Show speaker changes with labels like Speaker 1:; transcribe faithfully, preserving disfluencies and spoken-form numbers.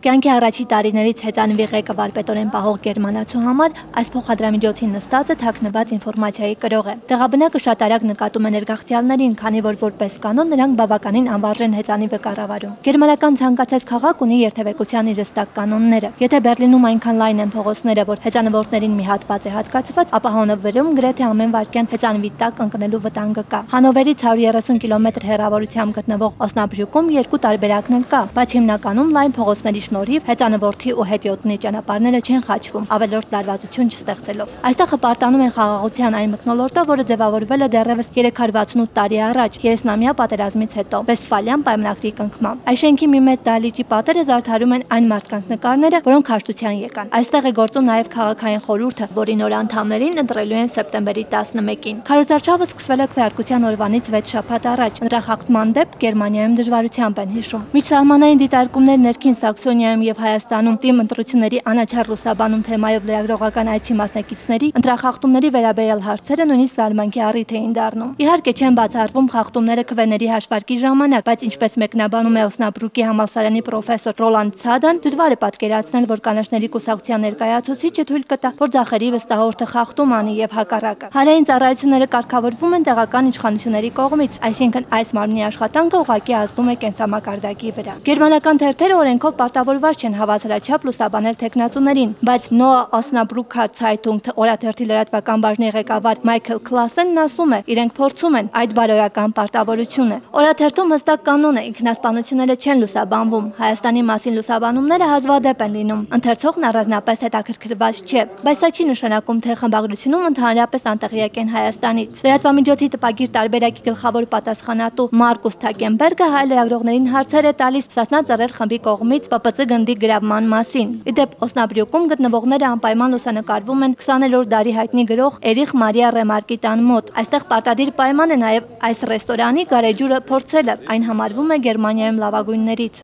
Speaker 1: Կյանքի առաջի տարիներից հեծանվի ղեկավար պետորեն պահող գերմանացու համար այս փոխադրամիջոցին նստածը թաքնված ինֆորմացիայի կրող է։ Տեղաբնակը շատ արագ նկատում է ներգաղթյալներին, քանի որ որպես կանոն նրանք բավականին անվարժեն հեծանիվը կառավարում։ Գերմանական ցանկացած քաղաք ունի երթևեկության իր հստակ կանոնները։ Եթե Բերլինում այնքան լայն են փողոցները, որ հեծանվորդներին մի հատված է հատկացված, ապա Հանովերում գրեթե ամեն վայրկյան հեծանվի տակ ընկնելու վտանգը կա։ Հանովերից հարյուր երեսուն կիլոմետր հեռավորությամբ գտնվող Օսնաբրյուկում երկու տարբերակն էլ կա, բայց հիմնականում լայն փողոցների շնորհիվ հեծանվորդի ու հետիոտնի ճանապարհները չեն խաչվում, ավելորդ լարվածություն չստեղծելով։ Այստեղ հպարտանում են խաղաղության այն մթնոլորտը, որը ձևավորվել է դեռևս երեք հարյուր վաթսունութ տարի առաջ, երեսնամյա պատերազմից հետո, Վեստֆալյան պայմանագրի կնքմամբ։ Այս շենքի մի մեծ դահլիճի պատերը զարդարում են այն մարդկանց նկարները, որոնք հաշտության եկան։ Այստեղ է գործում նաև քաղաքային խորհուրդը, որի նոր անդամներին ընտրելու են սեպտեմբերի տասնմեկին։ Քարոզարշավը սկսվել է քվեարկության օրվանից վեց շաբաթ առաջ։ Ընտրախախտման դեպք Գերմանիայում դժվարությամբ են հիշում։ Միջսահմանային դիտարկումներ ներքին Սաքսոնիայում եւ Հայաստանում թիմ ընտրությունների անաչառ լուսաբանում թեմայով լրագրողական այցի մասնակիցների ընտրախախտումների վերաբերյալ հարցերը նույնիսկ զարմանքի առիթ էին դառնում։ Իհարկե չեն բացառվում խախտումները քվեների հաշվարկի ժամանակ, բայց ինչպես մեկնաբանում է Օսնաբրուկի համալսարանի պրոֆեսոր Ռոլանդ Ցադան, դժվար է պատկերացնել, որ կանաչների կուսակցության ներկայացուցիչը թույլ կտա, որ ձախերի վստահորդը խախտում անի եւ հակառակը։ Հանրային ծառայությունները կարգավորվում են տեղական իշխանությունների կողմից, այսինքն այս մարմնի աշխատանքը ուղղակի ազդում է կենսամակարդակի վրա։ Գերմանական թերթերը օրենքով պարտավորված չեն հավասարաչափ լուսաբանել թեկնածուներին, բայց Noa Osnabrücker Zeitung օրաթերթի լրատվական բաժնի ղեկավար Մայքլ Քլասենն ասում է, իրենք փորձում են այդ բարոյական պարտավորությունը։ Օրաթերթում հստակ կանոն է, ինքնասպանությունները չեն լուսաբանվում, Հայաստանի մասին լուսաբանումները հազվադեպ են լինում։ Ընթերցողն առանձնապես հետաքրքրված չէ, բայց սա չի նշանակում, թե խմբագրությունում ընդհանրապես անտեղյակ են Հայաստանից։ Լրատվամիջոցի տպագիր տարբերակի գլխավոր պատասխանատու Մարկուս Թակենբերգը հայ լրագրողներին հարցեր է տալիս Սասնա ծռեր խմբի կողմից Պ Պ Ց գնդի գրավման մասին։ Իդեպ Օսնաբրյուկում գտնվողները անպայման լուսանկարվում են քսաներորդ դարի հայտնի գրող Էրիխ Մարիա Ռեմարկի տան մոտ։ Այստեղ պարտադիր պայման է նաև այս ռեստորանի գարեջուրը փորձելը, այն համարվում է Գերմանիայում լավագույններից։